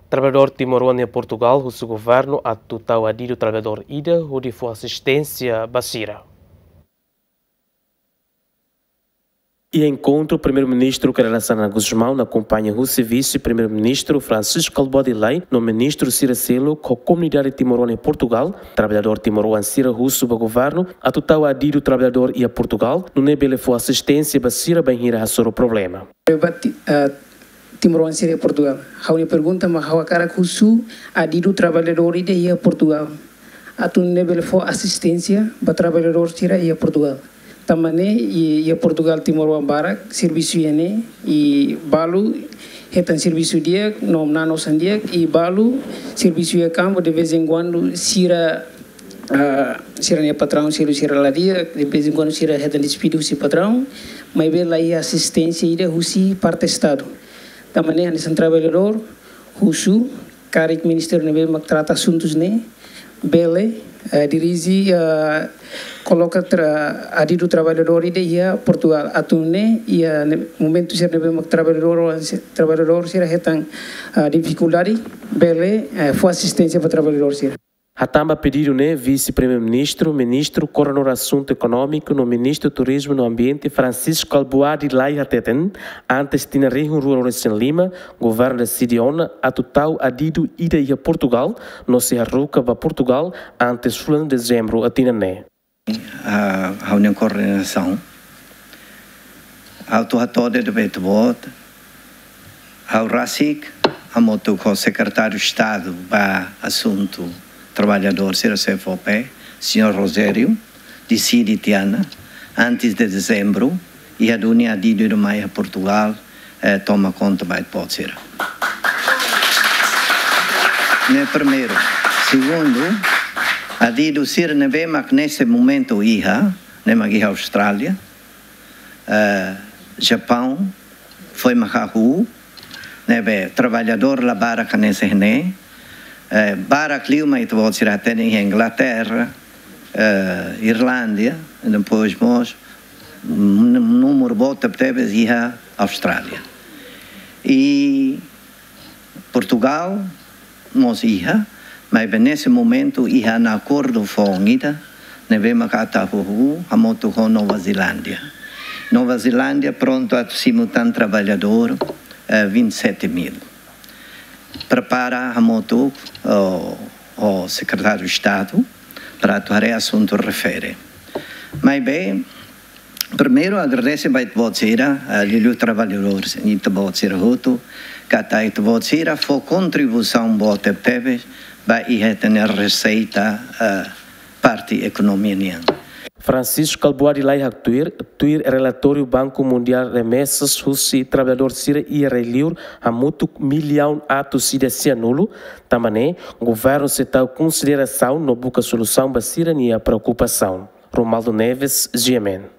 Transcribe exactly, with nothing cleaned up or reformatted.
Traballadór timoroan iha Portugal husu governu atu tau adidu traballadór ida hodi fó asisténsia ba sira. Iha enkontru Primeiru-Ministru Kay Rala Xanana Gusmão akompaña husi Vise-Primeiru-Ministru Francisco Kalbuadi Lay no ministru sira seluk ho komunidade timoroan iha Portugal, traballadór timoroan sira husu ba governu atu tau adidu traballadór iha Portugal, nune'e bele fó asisténsia ba sira bainhira hasoru problema. Ba ti-, ah, timoroan sira iha Portugal. Ha'u-nia pergunta mak ha'u hakarak husu adidu traballadór ida iha Portugal atu nune'e bele fó asisténsia ba traballadór sira iha Portugal. Tanba ne'e i-, iha Portugal timoroan barak servisu iha ne'e, i balu hetan servisu di'ak no na'in-osan di'ak, i balu servisu iha kampu de vez em quando sira, ah, sira-nia patraun sira, sira la di'ak, de vez em quando sira hetan despidu husi patraun, maibé la iha asisténsia ida husi parte Estadu. Tanba ne'e hanesan traballadór husu karik ministériu ne'ebé mak trata asuntus ne'e bele, eh, dirije, eh, koloka tra-, adidu traballadór ida iha Portugal atu nune'e iha ne-, momentu sira ne'ebé mak traballadór, traballadór sira hetan, ah, difikuldade bele, eh, fó asisténsia ba traballadór sira. Hatán ba pedidu ne'e Vise-Primeiru-Ministru, Ministru Koordenadór Asuntu Ekonómiku no Ministru Turizmu no Ambiente Francisco Kalbuadi Lay hateten, antes tinan rihun rua ruanulu-resin-lima, governu deside ona atu tau adidu ida iha Portugal, no sei haruka ba Portugal antes fulan Dezembru tinan ne'e. Ah, ha'u-nia koordenasaun. Ha'u atu hato'o de'it ba ita-boot. Ha'u rasik, hamutuk ho Sekretáriu Estadu ba Asuntu Traballadór sira, C F O P, señór Rogério, deside tiha ona, antes de Dezembru, iha duni adidu ida mai iha Portugal, eh, toma konta ba ita-boot sira. Ne'e primeiru. Segundu, adidu sira ne'ebé mak nesse momento iha, ne'e mak iha Austrália, eh, Japaun, foin mak hahú, ne'ebé traballadór la barak hanesan ne'e, eh, barak liu mak ita-boot sira hatene iha Inglaterra, eh, Irlándia, depois mós, nú-, númeru boot tebetebes iha Austrália. I Portugal mós iha, maibé nesse momento iha ona akordu foun ida, ne'ebé mak atu hahú hamutuk ho Nova Zelándia. Nova Zelándia prontu atu simu tan traballadór, eh, vinte e sete mil. Prepara hamutuk ho, ho Sekretáriu Estadu para atu haree asuntu refere. Maibé, primeiru, agradese ba ita-boot sira, eh, liuliu traballadór, ita-boot sira hotu, katak ita-boot sira fó kontribuisaun boot tebetebes ba iha ita-nia reseita, eh, parte ekonomia nian. Francisco Kalbuadi Lay haktuir, tuir relatóriu Banku Mundiál remesas husi traballadór sira iha rai-liur hamutuk millaun atus ida sianulu, tanba ne'e, governu sei tau konsiderasaun no buka solusaun ba sira-nia preokupasaun. Romualdo Neves, G M N.